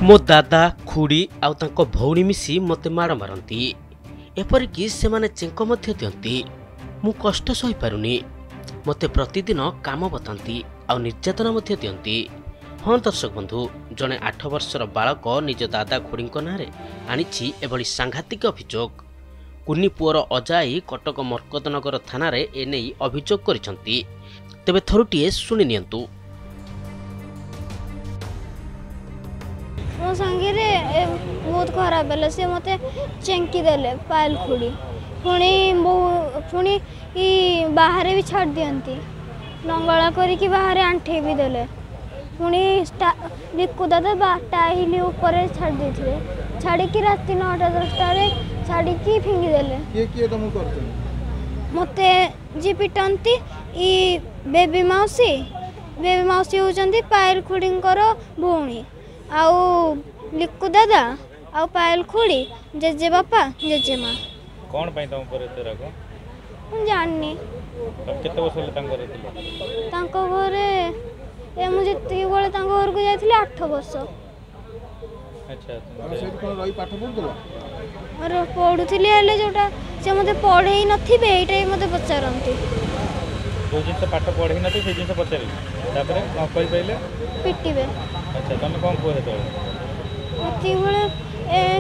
ମୋ ଦାଦା ଖୁଡ଼ି ଆଉ ତାଙ୍କ ଭଉଣୀ ମିଶି ମୋତେ ମାଡ଼ ମାରନ୍ତି, ଏପରିକି ସେମାନେ ଚେଙ୍କ ମଧ୍ୟ ଦିଅନ୍ତି। ମୁଁ କଷ୍ଟ ସହିପାରୁନି। ମୋତେ ପ୍ରତିଦିନ କାମ ବତାନ୍ତି ଆଉ ନିର୍ଯାତନା ମଧ୍ୟ ଦିଅନ୍ତି। ହଁ ଦର୍ଶକ ବନ୍ଧୁ, ଜଣେ 8 ବର୍ଷର ବାଳକ ନିଜ ଦାଦା ଖୁଡ଼ିଙ୍କ ନାଁରେ ଆଣିଛି ଏଭଳି ସାଂଘାତିକ ଅଭିଯୋଗ। କୁନି ପୁଅର ଅଜାଇ କଟକ ମର୍କତନଗର ଥାନାରେ ଏନେଇ ଅଭିଯୋଗ କରିଛନ୍ତି। ତେବେ ଥରୁଟିଏ ଶୁଣି ନିଅନ୍ତୁ। ମୋ ସାଙ୍ଗରେ ବହୁତ ଖରାପ ହେଲା। ସେ ମୋତେ ଚେଙ୍କି ଦେଲେ ପାୟଲ ଖୁଡ଼ି, ପୁଣି ପୁଣି ବାହାରେ ବି ଛାଡ଼ି ଦିଅନ୍ତି, ଲଙ୍ଗଳା କରିକି ବାହାରେ ଆଣ୍ଠେଇ ବି ଦେଲେ। ପୁଣି ଲିକୁ ଦାଦା ଟାଇଲି ଉପରେ ଛାଡ଼ି ଦେଇଥିବେ, ଛାଡ଼ିକି ରାତି 9ଟା 10ଟାରେ ଛାଡ଼ିକି ଫିଙ୍ଗିଦେଲେ। କିଏ କିଏ ତମକୁ କରୁଛନ୍ତି? ମୋତେ ଯିଏ ପିଟନ୍ତି ଇ ବେବି ମାଉସୀ। ବେବି ମାଉସୀ ହେଉଛନ୍ତି ପାୟଲ ଖୁଡ଼ିଙ୍କର ଭଉଣୀ, ଆଉ ଲିକୁ ଦାଦା ଆଉ ପାୟଲ ଖୁଡ଼ି, ଜେଜେବାପା ଜେଜେମା। କ'ଣ ପାଇଁ ତମ ଉପରେ ଏତେ ରାଗ? ମୁଁ ଜାଣିନି। ତମେ କେତେ ବର୍ଷ ହେଲା ତାଙ୍କ ଘରେ ଥିଲ? ତାଙ୍କ ଘରେ ଏ ମୁଁ ଯେତିକି ବେଳେ ତାଙ୍କ ଘରକୁ ଯାଇଥିଲି 8 ବର୍ଷ। ଆଚ୍ଛା, ତମେ ସେଇଠି କ'ଣ ରହି ପାଠ ପଢୁଥିଲ? ପଢ଼ୁଥିଲି, ହେଲେ ଯେଉଁଟା ସେ ମୋତେ ପଢ଼େଇ ନଥିବେ ଏଇଟା ବି ମୋତେ ପଚାରନ୍ତି। ଯେଉଁ ଜିନିଷ ପାଠ ପଢ଼େଇ ନଥିବେ ସେଇ ଜିନିଷ ପଚାରିବେ, ତାପରେ ନ କହିପାରିଲେ ପିଟିବେ। ଆଚ୍ଛା, ତମେ କ'ଣ କୁହ ସେତେବେଳେ? ସେତିକିବେଳେ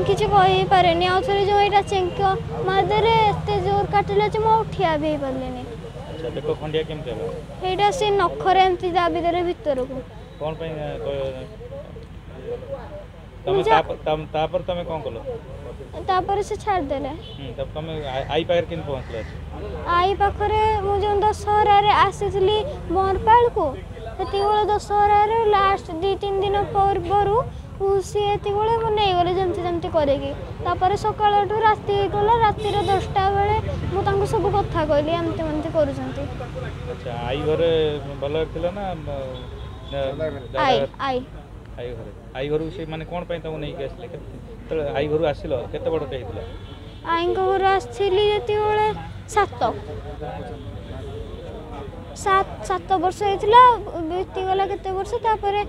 କିଛି କହିପାରେନି। ଆଉ ଥରେ ଯେଉଁ ଏଇଟା ଚେଙ୍କ ମାରିଦେଲେ, ଏତେ ଜୋର କାଟିଲା ଯେ ମୁଁ ଆଉ ଠିଆ ବି ହେଇପାରିଲିନି। ଆଚ୍ଛା, ବେକ ଖଣ୍ଡିଆ କେମିତି ହେଲା? ସେଇଟା ସେ ନଖରେ ଏମିତି ଦାବି ଦେଲେ ଭିତରକୁ। କ'ଣ ପାଇଁ ତମେ ତାପରେ ତମେ କ'ଣ କଲ? ତାପରେ ସେ ଛାଡ଼ିଦେଲେ। ତମେ ଆଈ ପାଖରେ କେମିତି ପହଞ୍ଚିଲ? ଆଈ ପାଖରେ ମୁଁ ଯେଉଁ ଦଶହରାରେ ଆସିଥିଲି ବରପାଳକୁ, ସେତିକିବେଳେ ଦଶହରାରେ ଲାଷ୍ଟ 2-3 ଦିନ ପୂର୍ବରୁ ସିଏ ଏତିକିବେଳେ ମୁଁ ନେଇଗଲେ ଯେମିତି ଯେମିତି କରିକି। ତାପରେ ସକାଳଠୁ ରାତି ହେଇଗଲା। ରାତିର 10ଟା ବେଳେ ମୁଁ ତାଙ୍କୁ ସବୁ କଥା କହିଲି, ଏମିତି ଏମିତି କରୁଛନ୍ତି। ଆଚ୍ଛା, ଆଈ ଘରେ ଭଲ ଥିଲା ନା? ଆଈ ଆଈ ଆଈ ଘରେ। ଆଈ ଘରକୁ ସେ ମାନେ କ'ଣ ପାଇଁ ତମକୁ ନେଇକି ଆସିଲେ? କେତେବେଳେ ଆଈ ଘରୁ ଆସିଲ? କେତେ ବଡ଼ଟେ ହେଇଥିଲା? ଆଈଙ୍କ ଘରୁ ଆସିଥିଲି ଯେତିକିବେଳେ 7 ବର୍ଷ ହେଇଥିଲା। ବିତିଗଲା କେତେ ବର୍ଷ, ତାପରେ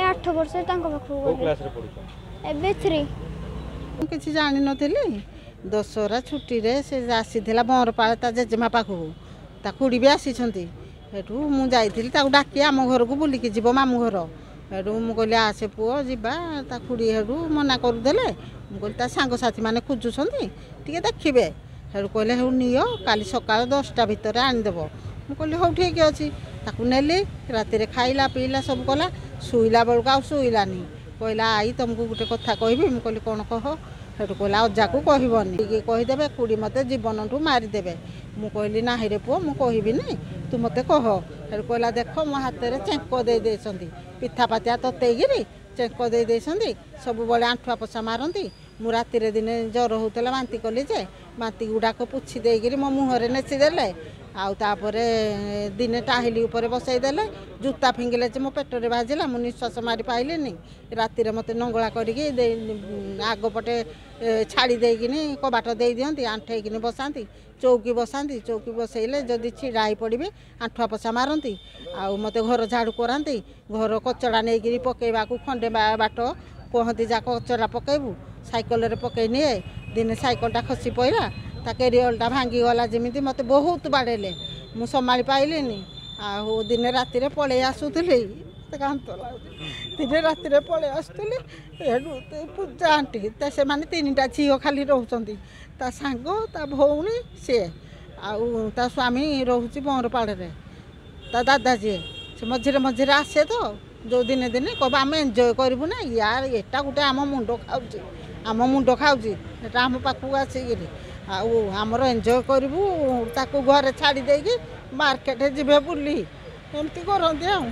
8 ବର୍ଷ ତାଙ୍କ ପାଖକୁ ଗଲି। ଏବେ 3। ମୁଁ କିଛି ଜାଣିନଥିଲି। ଦଶହରା ଛୁଟିରେ ସେ ଆସିଥିଲା ବଅଁରପାଳ ତା ଜେଜେମା ପାଖକୁ, ତା ଖୁଡ଼ି ବି ଆସିଛନ୍ତି। ସେଠୁ ମୁଁ ଯାଇଥିଲି ତାକୁ ଡାକି ଆମ ଘରକୁ ବୁଲିକି ଯିବ ମାମୁଁ ଘର। ସେଠୁ ମୁଁ କହିଲି ଆସେ ପୁଅ ଯିବା। ତା ଖୁଡ଼ି ସେଠୁ ମନା କରୁଥିଲେ। ମୁଁ କହିଲି ତା ସାଙ୍ଗସାଥିମାନେ ଖୋଜୁଛନ୍ତି, ଟିକେ ଦେଖିବେ। ସେଠୁ କହିଲେ ହେଉ ନିଅ, କାଲି ସକାଳ 10ଟା ଭିତରେ ଆଣିଦେବ। ମୁଁ କହିଲି ହଉ ଠିକ୍ ଅଛି। ତାକୁ ନେଲି, ରାତିରେ ଖାଇଲା ପିଇଲା ସବୁ କଲା। ଶୋଇଲା ବେଳକୁ ଆଉ ଶୋଇଲାନି। କହିଲା ଆଈ ତୁମକୁ ଗୋଟେ କଥା କହିବି। ମୁଁ କହିଲି କ'ଣ କହ। ସେଠୁ କହିଲା ଅଜାକୁ କହିବନି, ଟିକେ କହିଦେବେ ଖୁଡ଼ି ମୋତେ ଜୀବନଠୁ ମାରିଦେବେ। ମୁଁ କହିଲି ନାହିଁରେ ପୁଅ, ମୁଁ କହିବିନି, ତୁ ମୋତେ କହ। ସେଠୁ କହିଲା ଦେଖ ମୋ ହାତରେ ଚେଙ୍କ ଦେଇ ଦେଇଛନ୍ତି, ପିଠା ପାତିଆ ତତେଇକିରି ଚେଙ୍କ ଦେଇ ଦେଇଛନ୍ତି, ସବୁବେଳେ ଆଣ୍ଠୁଆ ପୋଛା ମାରନ୍ତି। ମୁଁ ରାତିରେ ଦିନେ ଜ୍ୱର ହେଉଥିଲା, ବାନ୍ତି କଲି ଯେ ବାନ୍ତି ଗୁଡ଼ାକ ପୋଛି ଦେଇକିରି ମୋ ମୁହଁରେ ନେସି ଦେଲେ। ଆଉ ତାପରେ ଦିନେ ଟାହିଲି ଉପରେ ବସେଇ ଦେଲେ, ଜୁତା ଫିଙ୍ଗିଲେ ଯେ ମୋ ପେଟରେ ବାଜିଲା, ମୁଁ ନିଶ୍ୱାସ ମାରି ପାଇଲିନି। ରାତିରେ ମୋତେ ନଙ୍ଗଳା କରିକି ଆଗ ପଟେ ଛାଡ଼ି ଦେଇକିନି କବାଟ ଦେଇ ଦିଅନ୍ତି, ଆଣ୍ଠେଇକିନି ବସାନ୍ତି, ଚୌକି ବସାନ୍ତି। ଚୌକି ବସେଇଲେ ଯଦି ଛିଡ଼ା ହେଇ ପଡ଼ିବି ଆଣ୍ଠୁଆ ପୋଛା ମାରନ୍ତି। ଆଉ ମୋତେ ଘର ଝାଡ଼ୁ କରାନ୍ତି, ଘର କଚଡ଼ା ନେଇକିରି ପକେଇବାକୁ ଖଣ୍ଡେ ବାଟ କୁହନ୍ତି ଯା କଚଡ଼ା ପକେଇବୁ, ସାଇକେଲରେ ପକେଇ ନିଏ। ଦିନେ ସାଇକେଲଟା ଖସି ପଡ଼ିଲା, ତା କ୍ୟାରିଅରଟା ଭାଙ୍ଗିଗଲା ଯେମିତି, ମୋତେ ବହୁତ ବାଡ଼େଇଲେ, ମୁଁ ସମ୍ଭାଳି ପାଇଲିନି। ଆଉ ଦିନେ ରାତିରେ ପଳେଇ ଆସୁଥିଲି, କାନ୍ଦ ଲାଗୁଛି। ଦିନେ ରାତିରେ ପଳେଇ ଆସୁଥିଲି, ସେଠୁ ପୂଜା ଆଣ୍ଟି ତା ସେମାନେ 3ଟା ଝିଅ ଖାଲି ରହୁଛନ୍ତି, ତା ସାଙ୍ଗ ତା ଭଉଣୀ ସିଏ, ଆଉ ତା ସ୍ୱାମୀ ରହୁଛି ବଅଁରପାଳରେ। ତା ଦାଦା ଯିଏ ସେ ମଝିରେ ମଝିରେ ଆସେ ତ, ଯେଉଁ ଦିନେ ଦିନେ କହିବ ଆମେ ଏନ୍ଜୟ କରିବୁ ନା ୟାର, ଏଟା ଗୋଟେ ଆମ ମୁଣ୍ଡ ଖାଉଛି, ଆମ ମୁଣ୍ଡ ଖାଉଛି, ଏଟା ଆମ ପାଖକୁ ଆସିକିରି ଆଉ ଆମର ଏନ୍ଜୟ କରିବୁ। ତାକୁ ଘରେ ଛାଡ଼ି ଦେଇକି ମାର୍କେଟ ଯିବେ ବୁଲି, ଏମିତି କରନ୍ତି। ଆଉ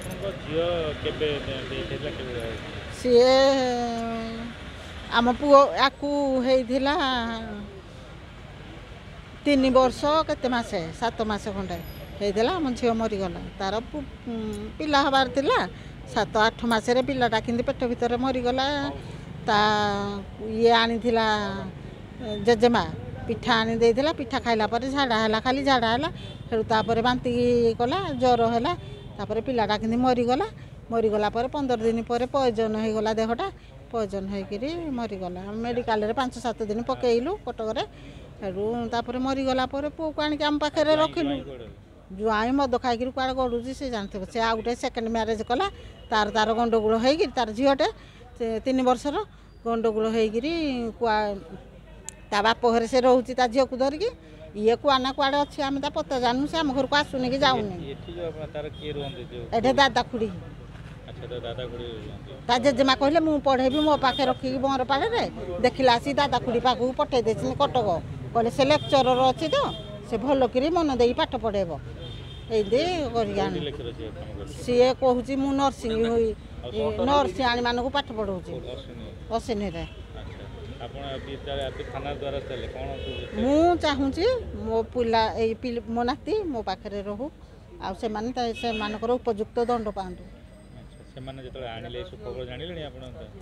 ସିଏ ଆମ ପୁଅ ଆକୁ ହେଇଥିଲା 3 ବର୍ଷ କେତେ ମାସ, 7 ମାସ ଖଣ୍ଡେ ହେଇଥିଲା ଆମ ଝିଅ ମରିଗଲା। ତାର ପିଲା ହେବାର ଥିଲା, 7-8 ମାସରେ ପିଲାଟା କିନ୍ତୁ ପେଟ ଭିତରେ ମରିଗଲା। ତା ଇଏ ଆଣିଥିଲା ଜେଜେମା ପିଠା ଆଣି ଦେଇଥିଲା, ପିଠା ଖାଇଲା ପରେ ଝାଡ଼ା ହେଲା, ଖାଲି ଝାଡ଼ା ହେଲା। ସେଠୁ ତାପରେ ବାନ୍ତି କଲା, ଜ୍ୱର ହେଲା, ତାପରେ ପିଲାଟା କିନ୍ତୁ ମରିଗଲା। ମରିଗଲା ପରେ 15 ଦିନ ପରେ ପଏଜନ୍ ହେଇଗଲା ଦେହଟା। ପଏଜନ୍ ହେଇକିରି ମରିଗଲା। ଆମେ ମେଡ଼ିକାଲରେ 5-7 ଦିନ ପକେଇଲୁ କଟକରେ। ହେଠୁ ତାପରେ ମରିଗଲା ପରେ ପୁଅକୁ ଆଣିକି ଆମ ପାଖରେ ରଖିଲୁ। ଜ୍ୱାଇଁ ମଦ ଖାଇକିରି କୁଆଡ଼େ ଗଡ଼ୁଛି ସେ ଜାଣିଥିବ। ସେ ଆଉ ଗୋଟେ ସେକେଣ୍ଡ ମ୍ୟାରେଜ୍ କଲା, ତାର ତାର ଗଣ୍ଡଗୋଳ ହେଇକିରି, ତାର ଝିଅଟେ 3 ବର୍ଷର, ଗଣ୍ଡଗୋଳ ହେଇକିରି କୁଆ ତା ବାପ ଘରେ ସେ ରହୁଛି ତା ଝିଅକୁ ଧରିକି। ଇଏ କୁଆ ନା କୁଆଡ଼େ ଅଛି ଆମେ ତା ପତ୍ତା ଜାଣିନୁ। ସେ ଆମ ଘରକୁ ଆସୁନି କି ଯାଉନି। ଏଠି ଦାଦା ଖୁଡ଼ି, ତା ଜେଜେମା କହିଲେ ମୁଁ ପଢ଼େଇବି ମୋ ପାଖେ ରଖିକି ବଅଁରପାଳରେ। ଦେଖିଲା ଆସି ଦାଦା ଖୁଡ଼ି ପାଖକୁ ପଠେଇ ଦେଇଛନ୍ତି କଟକ। କହିଲେ ସେ ଲେକ୍ଚରର ଅଛି ତ, ସେ ଭଲକିରି ମନ ଦେଇକି ପାଠ ପଢ଼େଇବ। ଏମିତି କରିକି ଆଣି ସିଏ କହୁଛି ମୁଁ ନର୍ସିଂ ହୋଇ ନର୍ସିଆଣୀମାନଙ୍କୁ ପାଠ ପଢ଼ଉଛି ଅସିନିରେ। ମୁଁ ଚାହୁଁଛି ମୋ ପିଲା ଏଇ ମୋ ନାତି ମୋ ପାଖରେ ରହୁ, ଆଉ ସେମାନେ ସେମାନଙ୍କର ଉପଯୁକ୍ତ ଦଣ୍ଡ ପାଆନ୍ତୁ।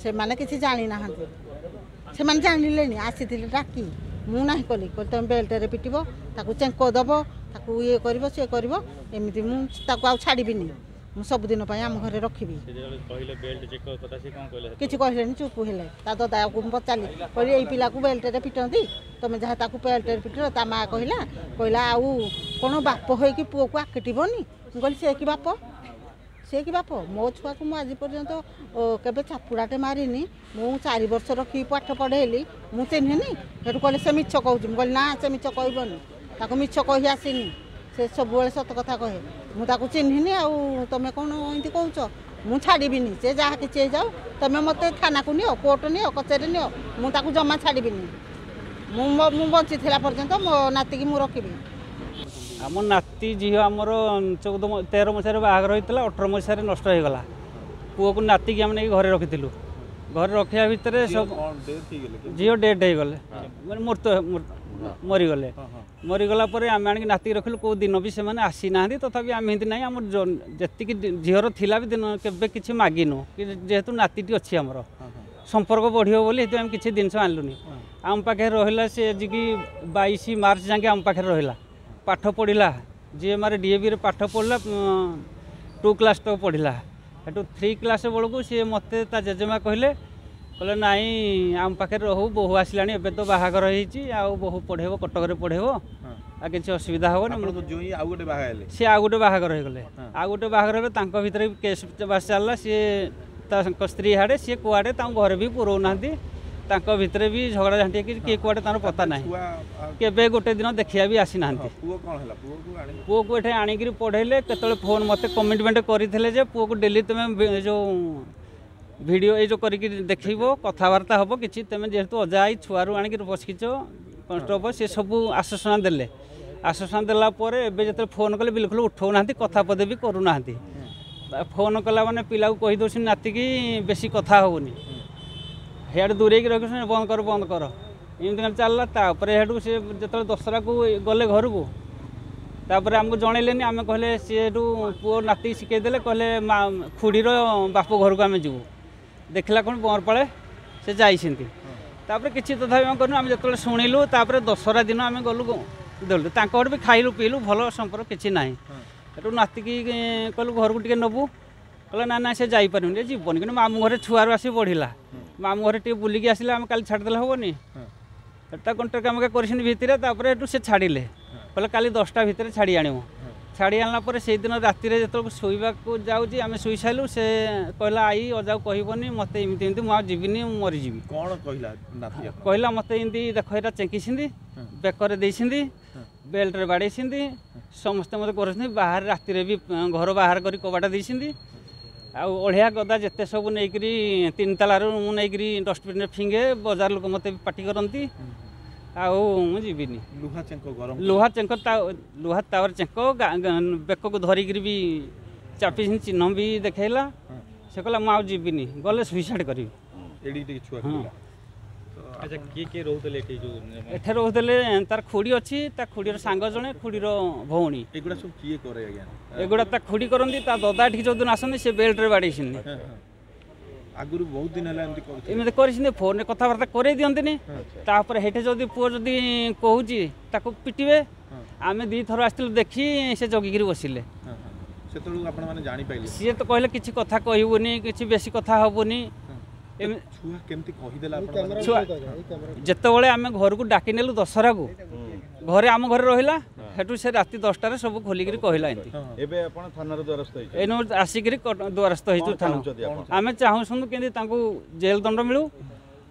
ସେମାନେ କିଛି ଜାଣିନାହାନ୍ତି। ସେମାନେ ଜାଣିଲେଣି, ଆସିଥିଲେ ଡାକି, ମୁଁ ନାହିଁ କଲି। କହିଲି ତୁମେ ବେଲ୍ଟରେ ପିଟିବ, ତାକୁ ଚେଙ୍କ ଦେବ, ତାକୁ ଇଏ କରିବ ସିଏ କରିବ, ଏମିତି ମୁଁ ତାକୁ ଆଉ ଛାଡ଼ିବିନି, ମୁଁ ସବୁଦିନ ପାଇଁ ଆମ ଘରେ ରଖିବି। କିଛି କହିଲେନି, ଚୁପ୍ ହେଲେ। ତା ଦଦାକୁ ମୁଁ ପଚାରିଲି, କହିଲି ଏଇ ପିଲାକୁ ବେଲ୍ଟରେ ପିଟନ୍ତି, ତମେ ଯାହା ତାକୁ ବେଲ୍ଟରେ ପିଟିଲ। ତା ମା କହିଲା, କହିଲା ଆଉ କ'ଣ ବାପ ହେଇକି ପୁଅକୁ ଆକିଟିବନି? ମୁଁ କହିଲି ସେ କି ବାପ, ସେ କି ବାପ? ମୋ ଛୁଆକୁ ମୁଁ ଆଜି ପର୍ଯ୍ୟନ୍ତ କେବେ ଚାପୁଡ଼ାଟେ ମାରିନି। ମୁଁ 4 ବର୍ଷ ରଖିକି ପାଠ ପଢ଼େଇଲି, ମୁଁ ଚିହ୍ନିନି। ସେଠୁ କହିଲେ ସେ ମିଛ କହୁଛି। ମୁଁ କହିଲି ନା, ସେ ମିଛ କହିବନି, ତାକୁ ମିଛ କହି ଆସିନି, ସେ ସବୁବେଳେ ସତ କଥା କହେ। ମୁଁ ତାକୁ ଚିହ୍ନିନି, ଆଉ ତମେ କ'ଣ ଏମିତି କହୁଛ? ମୁଁ ଛାଡ଼ିବିନି, ସେ ଯାହା କିଛି ହେଇଯାଉ। ତମେ ମୋତେ ଥାନାକୁ ନିଅ, କୋର୍ଟ ନିଅ, କଚେରୀ ନିଅ, ମୁଁ ତାକୁ ଜମା ଛାଡ଼ିବିନି। ମୁଁ ବଞ୍ଚିଥିଲା ପର୍ଯ୍ୟନ୍ତ ମୋ ନାତିକି ମୁଁ ରଖିବି। ଆମ ନାତି ଝିଅ ଆମର 14 13 ମସିହାରେ ବାହାଘର ହେଇଥିଲା, 18 ମସିହାରେ ନଷ୍ଟ ହେଇଗଲା। ପୁଅକୁ ନାତିକି ଆମେ ନେଇକି ଘରେ ରଖିଥିଲୁ। ଘରେ ରଖିବା ଭିତରେ ସବୁ ଝିଅ ଡେଥ୍ ହେଇଗଲେ, ମାନେ ମୃତ ମରିଗଲେ। ମରିଗଲା ପରେ ଆମେ ଆଣିକି ନାତିକି ରଖିଲୁ। କେଉଁ ଦିନ ବି ସେମାନେ ଆସିନାହାନ୍ତି। ତଥାପି ଆମେ ଏମିତି ନାହିଁ, ଆମର ଯେତିକି ଝିଅର ଥିଲା ବି ଦିନ କେବେ କିଛି ମାଗିନୁ କି, ଯେହେତୁ ନାତିଟି ଅଛି ଆମର ସମ୍ପର୍କ ବଢ଼ିବ ବୋଲି ସେଥିପାଇଁ ଆମେ କିଛି ଜିନିଷ ଆଣିଲୁନି। ଆମ ପାଖରେ ରହିଲା ସେ ଆଜିକି 22 ମାର୍ଚ୍ଚ ଯାଏଁ ଆମ ପାଖରେ ରହିଲା, ପାଠ ପଢ଼ିଲା। ଯିଏ ମାରେ ଡିଏଭିରେ ପାଠ ପଢ଼ିଲା, 2 କ୍ଲାସ୍ ତକ ପଢ଼ିଲା। ସେଠୁ 3 କ୍ଲାସ୍ ବେଳକୁ ସିଏ ମୋତେ ତା ଜେଜେମା କହିଲେ, କହିଲେ ନାଇଁ ଆମ ପାଖରେ ରହୁ, ବୋହୂ ଆସିଲାଣି, ଏବେ ତ ବାହାଘର ହେଇଛି, ଆଉ ବୋହୂ ପଢ଼େଇବ, କଟକରେ ପଢ଼େଇବ, ଆଉ କିଛି ଅସୁବିଧା ହେବନି। ସିଏ ଆଉ ଗୋଟେ ବାହାଘର ହେଇଗଲେ। ଆଉ ଗୋଟେ ବାହାଘର ହେଲେ ତାଙ୍କ ଭିତରେ ବି କେସ୍ ବାସ୍ ଚାଲିଲା। ସିଏ ତାଙ୍କ ସ୍ତ୍ରୀ ହାଡ଼େ, ସିଏ କୁଆଡ଼େ, ତାଙ୍କୁ ଘରେ ବି ପୁରଉନାହାନ୍ତି। ତାଙ୍କ ଭିତରେ ବି ଝଗଡ଼ା ଝାଣ୍ଟି ହେଇକି କିଏ କୁଆଡ଼େ ତାଙ୍କର ପତା ନାହିଁ। କେବେ ଗୋଟେ ଦିନ ଦେଖିବା ବି ଆସିନାହାନ୍ତି। ପୁଅକୁ ଏଠି ଆଣିକିରି ପଢ଼େଇଲେ। କେତେବେଳେ ଫୋନ୍ ମୋତେ କମିଟମେଣ୍ଟ କରିଥିଲେ ଯେ ପୁଅକୁ ଡେଲି ତୁମେ ଯେଉଁ ଭିଡ଼ିଓ ଏଇ ଯେଉଁ କରିକି ଦେଖେଇବ, କଥାବାର୍ତ୍ତା ହେବ କିଛି, ତୁମେ ଯେହେତୁ ଅଜା I ଛୁଆରୁ ଆଣିକି ବସିଛ କଷ୍ଟ ହେବ। ସେ ସବୁ ଆଶ୍ୱାସନା ଦେଲେ। ଆଶ୍ୱାସନା ଦେଲା ପରେ ଏବେ ଯେତେବେଳେ ଫୋନ୍ କଲେ ବିଲକୁଲ ଉଠାଉନାହାନ୍ତି, କଥା ପଦେ ବି କରୁନାହାନ୍ତି। ଫୋନ୍ କଲା ମାନେ ପିଲାକୁ କହିଦେଉଛନ୍ତି ନାତିକି ବେଶୀ କଥା ହେଉନି, ସିଆଡ଼େ ଦୂରେଇକି ରଖୁଛନ୍ତି, ବନ୍ଦ କର ବନ୍ଦ କର, ଏମିତି ଖାଲି ଚାଲିଲା। ତାପରେ ସେଠୁ ସେ ଯେତେବେଳେ ଦଶହରାକୁ ଗଲେ ଘରକୁ, ତାପରେ ଆମକୁ ଜଣେଇଲେନି। ଆମେ କହିଲେ ସିଏ ସେଠୁ ପୁଅ ନାତି ଶିଖେଇ ଦେଲେ, କହିଲେ ମା ଖୁଡ଼ିର ବାପ ଘରକୁ ଆମେ ଯିବୁ। ଦେଖିଲା କ'ଣ ବଅଁରପାଳେ ସେ ଯାଇଛନ୍ତି। ତାପରେ କିଛି ତଥାପି ଆମେ କରିନୁ। ଆମେ ଯେତେବେଳେ ଶୁଣିଲୁ ତାପରେ ଦଶହରା ଦିନ ଆମେ ଗଲୁ ଦେଲୁ, ତାଙ୍କ ଘରେ ବି ଖାଇଲୁ ପିଇଲୁ, ଭଲ ସମ୍ପର୍କ କିଛି ନାହିଁ। ସେଠୁ ନାତିକି କହିଲୁ ଘରକୁ ଟିକେ ନେବୁ, କହିଲେ ନା ନା ସେ ଯାଇପାରିବନି, ଯିବନି। କିନ୍ତୁ ମାମୁଁ ଘରେ ଛୁଆରୁ ଆସି ବଢ଼ିଲା, ମାମୁଁ ଘରେ ଟିକେ ବୁଲିକି ଆସିଲେ ଆମେ କାଲି ଛାଡ଼ିଦେଲେ ହେବନି। ତା କଣ୍ଟ୍ରାକ୍ଟ କାମ କରିଛନ୍ତି ଭିତରେ। ତାପରେ ସେଠୁ ସେ ଛାଡ଼ିଲେ, କହିଲେ କାଲି 10ଟା ଭିତରେ ଛାଡ଼ି ଆଣିବୁ। ଛାଡ଼ି ଆଣିଲା ପରେ ସେଇଦିନ ରାତିରେ ଯେତେବେଳକୁ ଶୋଇବାକୁ ଯାଉଛି, ଆମେ ଶୋଇ ସାରିଲୁ, ସେ କହିଲା I ଅଜାକୁ କହିବନି, ମୋତେ ଏମିତି ଏମିତି, ମୁଁ ଆଉ ଯିବିନି, ମୁଁ ମରିଯିବି। କ'ଣ କହିଲା? କହିଲା ମୋତେ ଏମିତି ଦେଖ ଏଇଟା ଚେଙ୍କିଛନ୍ତି, ବେକରେ ଦେଇଛନ୍ତି, ବେଲ୍ଟରେ ବାଡ଼େଇଛନ୍ତି, ସମସ୍ତେ ମୋତେ କରୁଛନ୍ତି, ବାହାରେ ରାତିରେ ବି ଘର ବାହାର କରି କବାଟ ଦେଇଛନ୍ତି, ଆଉ ଅଳିଆ ଗଦା ଯେତେ ସବୁ ନେଇକରି 3 ତାଲାରୁ ମୁଁ ନେଇକରି ଡଷ୍ଟବିନ୍ରେ ଫିଙ୍ଗେ, ବଜାର ଲୋକ ମୋତେ ପାଟି କରନ୍ତି, ଆଉ ମୁଁ ଯିବିନି। ଲୁହା ଚେଙ୍କ, ଗରମ ଲୁହା ଚେଙ୍କ, ଲୁହା ତାୱାର ଚେଙ୍କ, ବେକକୁ ଧରିକିରି ବି ଚାପିଛନ୍ତି, ଚିହ୍ନ ବି ଦେଖେଇଲା। ସେ କହିଲା ମୁଁ ଆଉ ଯିବିନି, ଗଲେ ସୁଇସାଇଡ଼୍ କରିବି। ହଁ। ଆଚ୍ଛା, କିଏ କିଏ ରହୁଥିଲେ ଏଠି? ଯୋଉ ଏଠି ରହୁଥିଲେ ତାର ଖୁଡ଼ି ଅଛି, ତା ଖୁଡ଼ିର ସାଙ୍ଗ ଜଣେ, ଖୁଡ଼ିର ଭଉଣୀ। ଏଗୁଡ଼ା ସବୁ କିଏ କରେ ଆଜ୍ଞା? ଏଗୁଡ଼ା ତା ଖୁଡ଼ି କରନ୍ତି। ତା ଦଦା ଏଠିକି ଯେଉଁଦିନ ଆସନ୍ତି ସେ ବେଲ୍ଟରେ ବାଡ଼େଇଛନ୍ତି। ଆଗରୁ ବହୁତ ଦିନ ହେଲା ଏମିତି କରୁଥିଲେ? ଏମିତି କରିଛନ୍ତି, ଫୋନରେ କଥାବାର୍ତ୍ତା କରେଇ ଦିଅନ୍ତିନି। ତାପରେ ସେଇଠି ଯଦି ପୁଅ ଯଦି କହୁଛି ତାକୁ ପିଟିବେ। ଆମେ 2ଥର ଆସିଥିଲୁ ଦେଖି, ସେ ଜଗିକିରି ବସିଲେ। ସେତେବେଳକୁ ଆପଣମାନେ ଜାଣିପାରିଲେ? ସିଏ ତ କହିଲେ କିଛି କଥା କହିବୁନି, କିଛି ବେଶୀ କଥା ହେବୁନି। ଛୁଆ କେମିତି କହିଦେଲା? ଛୁଆ ଯେତେବେଳେ ଆମେ ଘରକୁ ଡାକି ନେଲୁ ଦଶହରାକୁ, ଘରେ ଆମ ଘରେ ରହିଲା, ସେଠୁ ସେ ରାତି 10ଟାରେ ସବୁ ଖୋଲିକିରି କହିଲା ଏମିତି। ଏବେ ଆପଣ ଥାନାର ଦ୍ୱାରସ୍ଥ ହେଇଛନ୍ତି? ଏଇନୁ ଆସିକିରି ଦ୍ୱାରସ୍ଥ ହେଇଛୁ ଥାନା। ଆମେ ଚାହୁଁଛନ୍ତି କେମିତି ତାଙ୍କୁ ଜେଲ୍ ଦଣ୍ଡ ମିଳୁ,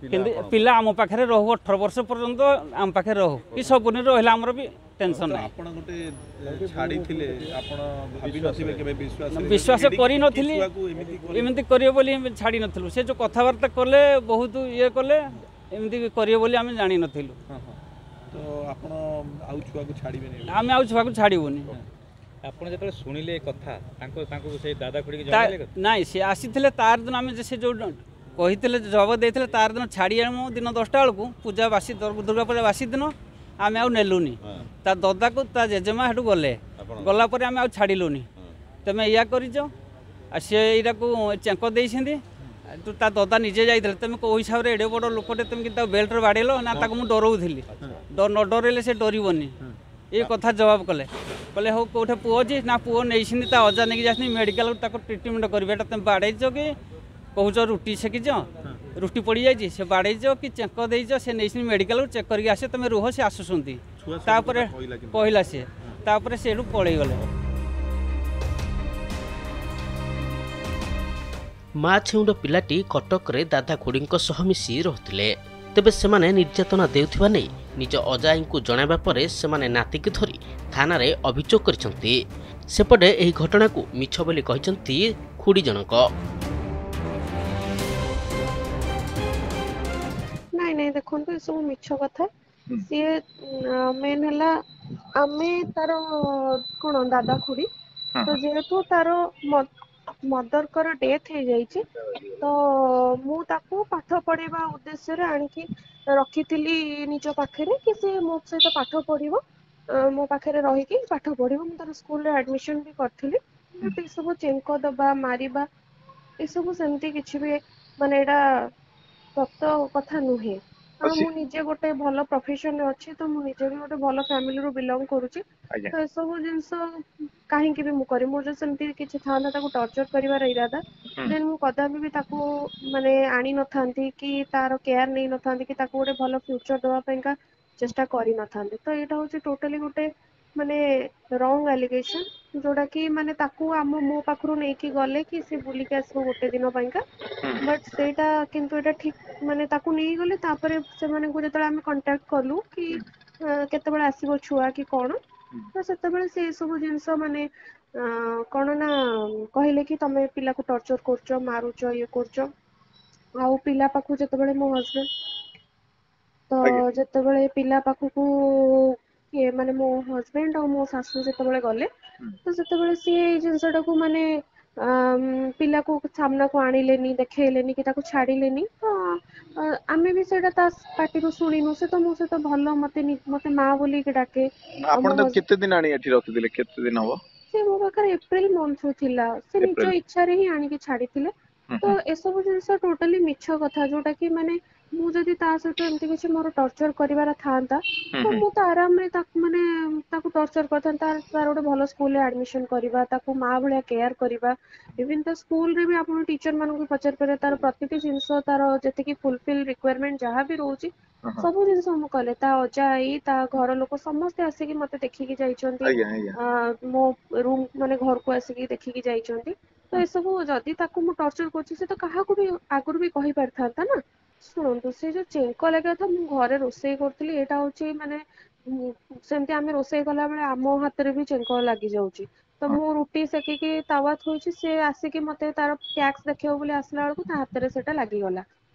କିନ୍ତୁ ପିଲା ଆମ ପାଖରେ ରହୁ, 18 ବର୍ଷ ପର୍ଯ୍ୟନ୍ତ ଆମ ପାଖରେ ରହୁ କି ସବୁଦିନ ରହିଲା ଆମର ବି ଟେନସନ୍ ନାହିଁ। ଆପଣ ଗୋଟେ ଛାଡ଼ିଥିଲେ, ଆପଣ ଭାବି ନଥିବେ କେବେ? ବିଶ୍ୱାସ କରିନଥିଲି ଏମିତି କରିବେ ବୋଲି, ଛାଡ଼ି ନଥିଲୁ। ସେ ଯେଉଁ କଥାବାର୍ତ୍ତା କଲେ, ବହୁତ ଇଏ କଲେ, ଏମିତି କରିବେ ବୋଲି ଆମେ ଜାଣିନଥିଲୁ। ତ ଆପଣ ଆଉ ଛୁଆକୁ ଛାଡ଼ିବେନି? ଆମେ ଆଉ ଛୁଆକୁ ଛାଡ଼ିବୁନି। ଆପଣ ଯେତେବେଳେ ଶୁଣିଲେ କଥା, ତାଙ୍କୁ ସେଇ ଦାଦା ଖୁଡ଼ିକି ଜଣାଇଲେ? ନାଇଁ, ସେ ଆସିଥିଲେ ତାର ଦିନ। ଆମେ ସେ ଯେଉଁ କହିଥିଲେ, ଜବାବ ଦେଇଥିଲେ, ତାର ଦିନ ଛାଡ଼ି ଆଣୁ ଦିନ 10ଟା ବେଳକୁ, ପୂଜା ବାସି, ଦୁର୍ଗା ପୂଜା ବାସି ଦିନ ଆମେ ଆଉ ନେଲୁନି। ତା ଦଦାକୁ ତା ଜେଜେମା ସେଠୁ ଗଲେ, ଗଲା ପରେ ଆମେ ଆଉ ଛାଡ଼ିଲୁନି। ତମେ ଏଇଆ କରିଛ ଆଉ ସେ ଏଇଟାକୁ ଚେଙ୍କ ଦେଇଛନ୍ତି। ତା ଦଦା ନିଜେ ଯାଇଥିଲେ। ତମେ କେଉଁ ହିସାବରେ ଏଡ଼େ ବଡ଼ ଲୋକଟେ, ତମେ କିନ୍ତୁ ତାକୁ ବେଲ୍ଟରେ ବାଡ଼େଇଲ? ନା, ତାକୁ ମୁଁ ଡରଉଥିଲି, ନ ଡରେଇଲେ ସେ ଡରିବନି। ଏ କଥା ଜବାବ କଲେ। କହିଲେ ହଉ, କେଉଁଠି ପୁଅ ଅଛି? ନା, ପୁଅ ନେଇଛନ୍ତି, ତା ଅଜା ନେଇକି ଯାଇଛନ୍ତି ମେଡ଼ିକାଲକୁ, ତାକୁ ଟ୍ରିଟମେଣ୍ଟ କରିବେ। ଏଇଟା ତମେ ବାଡ଼େଇଛ କି କହୁଛ ରୁଟି ସେକିଛ, ରୁଟି ପଡ଼ିଯାଇଛି, ସେ ବାଡ଼େଇଛ କି ଚେଙ୍କ ଦେଇଛ? ସେ ନେଇଛନ୍ତି ମେଡ଼ିକାଲକୁ, ଚେକ୍ କରିକି ଆସିବେ, ତମେ ରୁହ, ସେ ଆସୁଛନ୍ତି। ତାପରେ କହିଲା ସିଏ, ତାପରେ ସେଠୁ ପଳେଇଗଲେ। ମା ଛେଉଣ୍ଡ ପିଲାଟି କଟକରେ ଦାଦା ଖୁଡ଼ିଙ୍କ ସହ ମିଶି ରହୁଥିଲେ। ତେବେ ସେମାନେ ନିର୍ଯାତନା ଦେଉଥିବା ନେଇ ନିଜ ଅଜାଆଈଙ୍କୁ ଜଣାଇବା ପରେ ସେମାନେ ନାତିକୁ ଧରି ଥାନାରେ ଅଭିଯୋଗ କରିଛନ୍ତି। ସେପଟେ ଏହି ଘଟଣାକୁ ମିଛ ବୋଲି କହିଛନ୍ତି ଖୁଡ଼ି ଜଣକ। ନାଇଁ ନାଇଁ, ଦେଖନ୍ତୁ, ଏସବୁ ମିଛ କଥା। ସିଏ ମେନ୍ ହେଲା ଆମେ ତାର କଣ ଦାଦା ଖୁଡ଼ି ତ, ଯେହେତୁ ତାର ମଦରଙ୍କର ଡେଥ୍ ହେଇଯାଇଛି, ତ ମୁଁ ତାକୁ ପାଠ ପଢେଇବା ଉଦ୍ଦେଶ୍ୟରେ ଆଣିକି ରଖିଥିଲି ନିଜ ପାଖରେ କି ସେ ମୋ ସହିତ ପାଠ ପଢିବ, ମୋ ପାଖରେ ରହିକି ପାଠ ପଢିବ। ମୁଁ ତାର ସ୍କୁଲରେ ଆଡମିସନ ବି କରିଥିଲି। ଏସବୁ ଚେଙ୍କ ଦବା, ମାରିବା, ଏସବୁ ସେମିତି କିଛି ବି ମାନେ ଏଇଟା ସତ କଥା ନୁହେଁ। କାରଣ ମୁଁ ନିଜେ ଗୋଟେ ଭଲ ପ୍ରଫେସନରେ ଅଛି, ତ ମୁଁ ନିଜେ ବି ଗୋଟେ ଭଲ ଫ୍ୟାମିଲିରୁ ବିଲଙ୍ଗ କରୁଛି। ତ ଏସବୁ ଜିନିଷ କାହିଁକି ବି ମୁଁ କରିବି? ମୋର ଯଦି ସେମିତି କିଛି ଥାନ୍ତା ତାକୁ ଟର୍ଚର କରିବାର ଇରାଦା, ଦେନ୍ ମୁଁ କଦାପି ବି ତାକୁ ମାନେ ଆଣି ନଥାନ୍ତି କି ତାର କେୟାର ନେଇ ନଥାନ୍ତି କି ତାକୁ ଗୋଟେ ଭଲ ଫ୍ୟୁଚର ଦବା ପାଇଁକା ଚେଷ୍ଟା କରିନଥାନ୍ତି। ତ ଏଇଟା ହଉଛି ଟୋଟାଲି ଗୋଟେ ମାନେ ରଙ୍ଗ ଆଲିଗେସନ, ଯୋଉଟା କି ମାନେ ତାକୁ ଆମ ମୋ ପାଖରୁ ନେଇକି ଗଲେ କି ସେ ବୁଲିକି ଆସିବ ଗୋଟେ ଦିନ ପାଇଁକା, ବଟ୍ ସେଇଟା କିନ୍ତୁ ଏଇଟା ଠିକ ମାନେ ତାକୁ ନେଇଗଲେ। ତାପରେ ସେମାନଙ୍କୁ ଯେତେବେଳେ ଆମେ କଣ୍ଟାକ୍ଟ କଲୁ କି କେତେବେଳେ ଆସିବ ଛୁଆ କି କଣ, ତ ସେତେବେଳେ ସେ ସବୁ ଜିନିଷ ମାନେ କଣ ନା କହିଲେ କି ତମେ ପିଲାକୁ ଟର୍ଚର କରୁଛ, ମାରୁଛ, ଇଏ କରୁଛ। ଆଉ ପିଲା ପାଖକୁ ଯେତେବେଳେ ମୋ ହଜବେଣ୍ଡ ତ ଯେତେବେଳେ ପିଲା ପାଖକୁ କିଏ ମାନେ ମୋ ହଜବେଣ୍ଡ ଆଉ ମୋ ଶାଶୁ ଯେତେବେଳେ ଗଲେ, ତ ସେତେବେଳେ ସିଏ ଏଇ ଜିନିଷଟାକୁ ମାନେ ପିଲାକୁ ସାମ୍ନାକୁ ଆଣିଲେନି, ଦେଖେଇଲେନି କି ତାକୁ ଛାଡିଲେନି। ତ ଆମେ ବି ସେଇଟା ତା ପାଟିରୁ ଶୁଣିନୁ। ସେ ତ ମୋ ସହିତ ଭଲ, ମତେ ମତେ ମା ବୋଲିକି ଡାକେ। ଆପଣ ତାକୁ କେତେ ଦିନ ଆଣି ଏଠି ରଖିଥିଲେ? କେତେ ଦିନ ହବ? ସେ ମୋ ପାଖରେ ଏପ୍ରିଲ ମନ୍ଥରୁ ଥିଲା। ସେ ନିଜ ଇଚ୍ଛାରେ ହିଁ ଆଣିକି ଛାଡିଥିଲେ। ତ ଏସବୁ ଜିନିଷ ଟୋଟାଲି ମିଛ କଥା, ଯୋଉଟା କି ମାନେ ମୁଁ ଯଦି ତା ସହିତ ଏମିତି କିଛି ମୋର ଟର୍ଚର କରିବାର ଥାନ୍ତା, ତ ମୁଁ ତ ଆରାମରେ ତାକୁ ମାନେ ତାକୁ ଟର୍ଚର କରିଥାନ୍ତି। ତାର ଗୋଟେ ଭଲ ସ୍କୁଲରେ ଆଡମିସନ କରିବା, ତାକୁ ମା ଭଳିଆ କେୟାର କରିବା। ଇଭିନ୍ ତା ସ୍କୁଲରେ ବି ଆପଣ ଟିଚର ମାନଙ୍କୁ ପଚାରି ପାରିବେ, ତାର ପ୍ରତିଟି ଜିନିଷ, ତାର ଯେତିକି ଫୁଲଫିଲ ରିକ୍ୱାରମେଣ୍ଟ ଯାହା ବି ରହୁଛି, ସବୁ ଜିନିଷ ମୁଁ କଲେ। ତା ଅଜା ଆଈ, ତା ଘର ଲୋକ ସମସ୍ତେ ଆସିକି ମତେ ଦେଖିକି ଯାଇଛନ୍ତି, ମୋ ରୁମ ମାନେ ଘରକୁ ଆସିକି ଦେଖିକି ଯାଇଛନ୍ତି। ତ ଏସବୁ ଯଦି ତାକୁ ମୁଁ ଟର୍ଚର କରୁଛି, ସେ ତ କାହାକୁ ବି ଆଗରୁ ବି କହିପାରିଥାନ୍ତା ନା। ଶୁଣନ୍ତୁ, ସେ ଯୋଉ ଚେଙ୍କ ଲାଗିବା କଥା, ମୁଁ ଘରେ ରୋଷେଇ କରୁଥିଲି। ଏଇଟା ହଉଛି ମାନେ ସେମିତି ଆମେ ରୋଷେଇ କଲା ବେଳେ ଆମ ହାତରେ ବି ଚେଙ୍କ ଲାଗି ଯାଉଛି। ତ ମୁଁ ରୁଟି ସେକିକି ତାୱା ଥୋଇଛି, ସେ ଆସିକି ମତେ ତାର ଟ୍ୟାକ୍ସ ଦେଖିବ ବୋଲି ଆସିଲା ବେଳକୁ ତା ହାତରେ ସେଟା ଲାଗିଗଲା।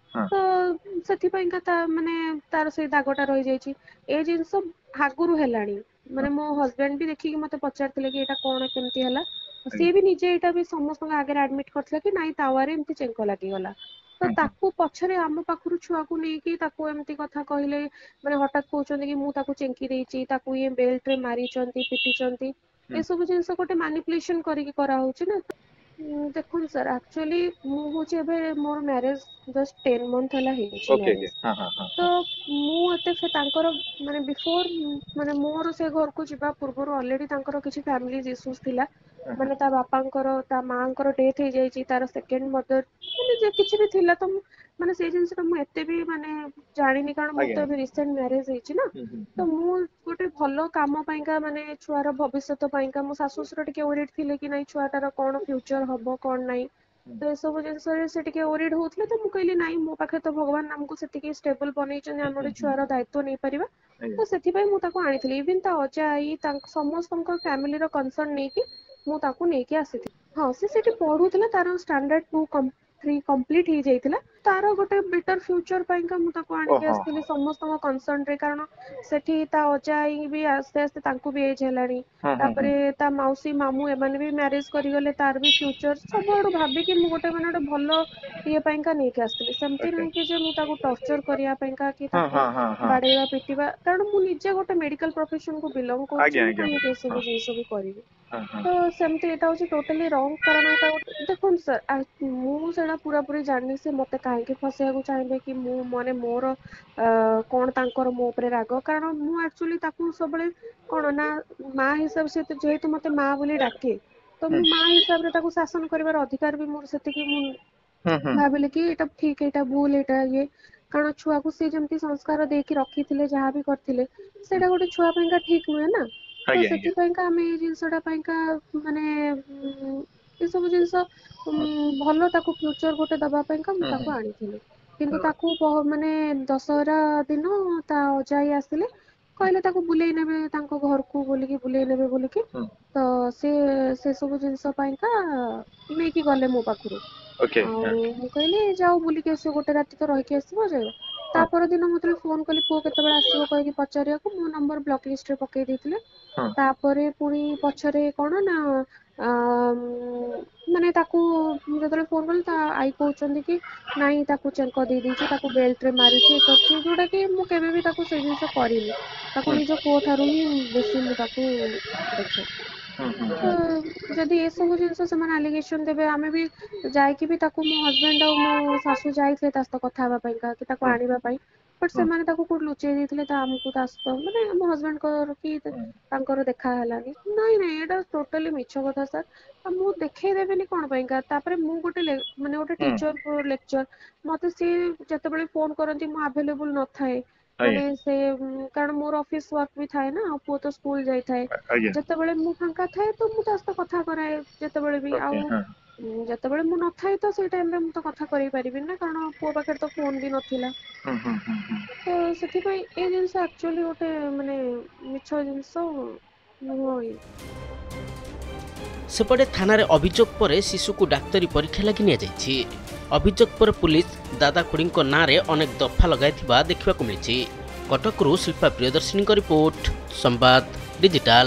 ତ ସେଥିପାଇଁକା ତା ମାନେ ତାର ସେଇ ଦାଗଟା ରହିଯାଇଛି। ଏ ଜିନିଷ ଆଗରୁ ହେଲାଣି। ମାନେ ମୋ ହଜବେଣ୍ଡ ବି ଦେଖିକି ମତେ ପଚାରିଥିଲେ କି ଏଇଟା କଣ, କେମିତି ହେଲା। ସିଏ ବି ନିଜେ ଏଇଟା ବି ସମସ୍ତଙ୍କ ଆଗରେ ଆଡମିଟ କରିଥିଲା କି ନାଇଁ, ତାୱାରେ ଏମିତି ଚେଙ୍କ ଲାଗିଗଲା। ତ ତାକୁ ପଛରେ ଆମ ପାଖରୁ ଛୁଆକୁ ନେଇକି ତାକୁ ଏମିତି କଥା କହିଲେ, ମାନେ ହଠାତ୍ କହୁଛନ୍ତି କି ମୁଁ ତାକୁ ଚେଙ୍କି ଦେଇଛି, ତାକୁ ଇଏ ବେଲ୍ଟରେ ମାରିଛନ୍ତି, ପିଟିଛନ୍ତି। ଏସବୁ ଜିନିଷ ଗୋଟେ ମାନିପୁଲେସନ କରିକି କରାହଉଛି ନା। ଦେଖନ୍ତୁ ସାର୍, ଆକ୍ଚୁଆଲି ମୁଁ ହଉଛି ଏବେ ମୋର ମ୍ୟାରେଜ ଜଷ୍ଟ 10 ମନ୍ଥ ହେଲା ହେଇଛି ମ୍ୟାରେଜ। ତ ମୁଁ ଏତେ ସେ ତାଙ୍କର ମାନେ ବିଫୋର ମାନେ ମୋର ସେ ଘରକୁ ଯିବା ପୂର୍ବରୁ ଅଲରେଡି ତାଙ୍କର କିଛି ଫ୍ୟାମିଲି ଇସ୍ୟୁଜ ଥିଲା। ମାନେ ତା ବାପାଙ୍କର ତା ମାଆଙ୍କର ଡେଥ୍ ହେଇଯାଇଛି, ତାର ସେକେଣ୍ଡ ମଦର ମାନେ ଯେ କିଛି ବି ଥିଲା, ତ ମୁଁ ମାନେ ସେଇ ଜିନିଷଟା ମୁଁ ଏତେ ବି ମାନେ ଜାଣିନି, କାରଣ ମୋର ତ ଏବେ ରିସେଣ୍ଟ ମ୍ୟାରେଜ ହେଇଛି ନା। ତ ମୁଁ ଗୋଟେ ଭଲ କାମ ପାଇଁକା, ମାନେ ଛୁଆର ଭବିଷ୍ୟତ ପାଇଁକା, ମୋ ଶାଶୁ ଶ୍ୱଶୁର ଟିକେ ୱରିଡ୍ ଥିଲେ କି ନାଇଁ ଛୁଆଟାର କଣ ଫ୍ୟୁଚର ହବ କଣ ନାଇଁ, ତ ଏସବୁ ଜିନିଷରେ ସେ ଟିକେ ୱରିଡ୍ ହଉଥିଲେ। ତ ମୁଁ କହିଲି ନାଇଁ, ମୋ ପାଖରେ ତ ଭଗବାନ ଆମକୁ ସେତିକି ଷ୍ଟେବଲ ବନେଇଛନ୍ତି, ଆମେ ଗୋଟେ ଛୁଆର ଦାୟିତ୍ୱ ନେଇପାରିବା। ତ ସେଥିପାଇଁ ମୁଁ ତାକୁ ଆଣିଥିଲି। ଇଭିନ୍ ତା ଅଜା ଆଈ ତାଙ୍କ ସମସ୍ତଙ୍କ ଫ୍ୟାମିଲିର କନସର୍ନ ନେଇକି ମୁଁ ତାକୁ ନେଇକି ଆସିଥିଲି। ହଁ, ସେ ସେଠି ପଢୁଥିଲା, ତାର ଷ୍ଟାଣ୍ଡାର୍ଡ 2 3 କମ୍ପ୍ଲିଟ ହେଇଯାଇଥିଲା। ତାର ଗୋଟେ ବେଟର ଫ୍ୟୁଚର ପାଇଁକା ମୁଁ ତାକୁ ଆଣିକି ଆସିଥିଲି ସମସ୍ତଙ୍କ କନସର୍ନରେ, କାରଣ ସେଠି ତା ଅଜା ଆଈ ବି ଆସ୍ତେ ଆସ୍ତେ ତାଙ୍କୁ ବି ଏଜ୍ ହେଲାଣି, ତାପରେ ତା ମାଉସୀ ମାମୁଁ ଏମାନେ ବି ମ୍ୟାରେଜ କରିଗଲେ, ତାର ବି ଫ୍ୟୁଚର ସବୁଆଡୁ ଭାବିକି ମୁଁ ଗୋଟେ ମାନେ ଗୋଟେ ଭଲ ଇଏ ପାଇଁକା ନେଇକି ଆସିଥିଲି। ସେମିତି ନୁହେଁ କି ଯେ ମୁଁ ତାକୁ ଟର୍ଚର କରିବା ପାଇଁକା କି ତାକୁ ବାଡେଇବା ପିଟିବା, କାରଣ ମୁଁ ନିଜେ ଗୋଟେ ମେଡିକାଲ ପ୍ରଫେସନକୁ ବିଲଙ୍ଗ କରୁଛି, ମୁଁ କାହିଁକି ଏସବୁ ଜିନିଷ ବି କରିବି? ତ ସେମିତି ଏଇଟା ହଉଛି ଟୋଟାଲି ରଙ୍ଗ। କାରଣ ଏଇଟା ଗୋଟେ ଦେଖନ୍ତୁ ସାର୍, ମୁଁ ସେଇଟା ପୁରାପୁରି ଜାଣିନି ସେ ମତେ କାହିଁକି ଫସେଇବାକୁ ଚାହିଁବେ କି ମୁଁ ମାନେ ମୋର କଣ ତାଙ୍କର ମୋ ଉପରେ ରାଗ। କାରଣ ମୁଁ ଆକ୍ଚୁଆଲି ତାକୁ ସବୁବେଳେ କଣ ନା ମା ହିସାବରେ, ସେ ଯେହେତୁ ମତେ ମା ବୋଲି ଡାକେ, ତ ମୁଁ ମା ହିସାବରେ ତାକୁ ଶାସନ କରିବାର ଅଧିକାର ବି ମୋର ସେତିକି। ମୁଁ ଭାବିଲି କି ଏଇଟା ଠିକ, ଏଇଟା ଭୁଲ, ଏଇଟା ଇଏ, କାରଣ ଛୁଆକୁ ସିଏ ଯେମିତି ସଂସ୍କାର ଦେଇକି ରଖିଥିଲେ, ଯାହା ବି କରିଥିଲେ, ସେଇଟା ଗୋଟେ ଛୁଆ ପାଇଁକା ଠିକ ନୁହେଁ ନା। ତ ସେଥିପାଇଁକା ଆମେ ଏଇ ଜିନିଷଟା ପାଇଁକା ମାନେ ଏସବୁ ଜିନିଷ ଭଲ ତାକୁ ଫ୍ୟୁଚର ଗୋଟେ ଦବା ପାଇଁକା ମୁଁ ତାକୁ ଆଣିଥିଲି। କିନ୍ତୁ ତାକୁ ମାନେ ଦଶହରା ଦିନ ତା ଅଜା ଆଈ ଆସିଲେ, କହିଲେ ତାକୁ ବୁଲେଇ ନେବେ ତାଙ୍କ ଘରକୁ ବୋଲିକି, ବୁଲେଇ ନେବେ ବୋଲିକି, ତ ସେ ସେ ସବୁ ଜିନିଷ ପାଇଁକା ନେଇକି ଗଲେ ମୋ ପାଖରୁ। ଆଉ ମୁଁ କହିଲି ଯାଉ ବୁଲିକି ଆସିବ, ଗୋଟେ ରାତି ତ ରହିକି ଆସିବ ଯାଇ। ତା ପରଦିନ ମୁଁ ଯେତେବେଳେ ଫୋନ କଲି ପୁଅ କେତେବେଳେ ଆସିବ କହିକି ପଚାରିବାକୁ, ମୋ ନମ୍ବର ବ୍ଲକ ଲିଷ୍ଟରେ ପକେଇ ଦେଇଥିଲେ। ତାପରେ ପୁଣି ପଛରେ କଣ ନା ମାନେ ତାକୁ ଯେତେବେଳେ ଫୋନ କଲି, ତା ଆଈ କହୁଛନ୍ତି କି ନାଇଁ ତାକୁ ଚେଙ୍କ ଦେଇ ଦେଇଛି, ତାକୁ ବେଲ୍ଟ ରେ ମାରିଛି, ଇଏ କରିଛି, ଯୋଉଟା କି ମୁଁ କେବେ ବି ତାକୁ ସେଇ ଜିନିଷ କରିନି। ତାକୁ ନିଜ ପୁଅ ଠାରୁ ହିଁ ବେଶୀ ମୁଁ ତାକୁ ଦେଖେ। ତ ଯଦି ଏସବୁ ଜିନିଷ ସେମାନେ ଆଲିଗେସନ ଦେବେ, ଆମେ ବି ଯାଇକି ବି ତାକୁ, ମୋ ହଜବେଣ୍ଡ ଆଉ ମୋ ଶାଶୁ ଯାଇଥିଲେ ତା ସହିତ କଥା ହେବା ପାଇଁକା କି ତାକୁ ଆଣିବା ପାଇଁ, ବଟ ସେମାନେ ତାକୁ କୋଉଠି ଲୁଚେଇ ଦେଇଥିଲେ। ତ ଆମକୁ ତା ସହିତ ମାନେ ମୋ ହଜବେଣ୍ଡଙ୍କର କି ତାଙ୍କର ଦେଖା ହେଲାନି। ନାଇଁ ନାଇଁ, ଏଇଟା ଟୋଟାଲି ମିଛ କଥା ସାର୍। ଆଉ ମୁଁ ଦେଖେଇ ଦେବିନି କଣ ପାଇଁକା? ତାପରେ ମୁଁ ଗୋଟେ ମାନେ ଗୋଟେ ଟିଚର ଲେକ୍ଚର, ମତେ ସିଏ ଯେତେବେଳେ ଫୋନ କରନ୍ତି ମୁଁ ଆଭେଲେବୁଲ ନଥାଏ, ମାନେ ସେ କାରଣ ମୋର ଅଫିସ ୱାର୍କ ବି ଥାଏ ନା, ଆଉ ପୁଅ ତ ସ୍କୁଲ ଯାଇଥାଏ। ଯେତେବେଳେ ମୁଁ ଫାଙ୍କା ଥାଏ ତ ମୁଁ ତା ସହିତ କଥା କରାଏ ଯେତେବେଳେ ବି, ଆଉ ଯେତେବେଳେ ମୁଁ ନଥାଏ ତ ସେଇ ଟାଇମରେ ମୁଁ ତ କଥା କରେଇ ପାରିବିନି ନା, କାରଣ ପୁଅ ପାଖରେ ତ ଫୋନ ବି ନଥିଲା। ତ ସେଥିପାଇଁ ଏଇ ଜିନିଷ ଆକ୍ଚୁଆଲି ଗୋଟେ ମାନେ ମିଛ ଜିନିଷ ନୁହଁ। ସେପଟେ ଥାନାରେ ଅଭିଯୋଗ ପରେ ଶିଶୁକୁ ଡାକ୍ତରୀ ପରୀକ୍ଷା ଲାଗି ନିଆଯାଇଛି। ଅଭିଯୋଗ ପରେ ପୁଲିସ ଦାଦା ଖୁଡ଼ିଙ୍କ ନାଁରେ ଅନେକ ଦଫା ଲଗାଇଥିବା ଦେଖିବାକୁ ମିଳିଛି। କଟକରୁ ଶିଳ୍ପା ପ୍ରିୟଦର୍ଶିନୀଙ୍କ ରିପୋର୍ଟ, ସମ୍ବାଦ ଡିଜିଟାଲ।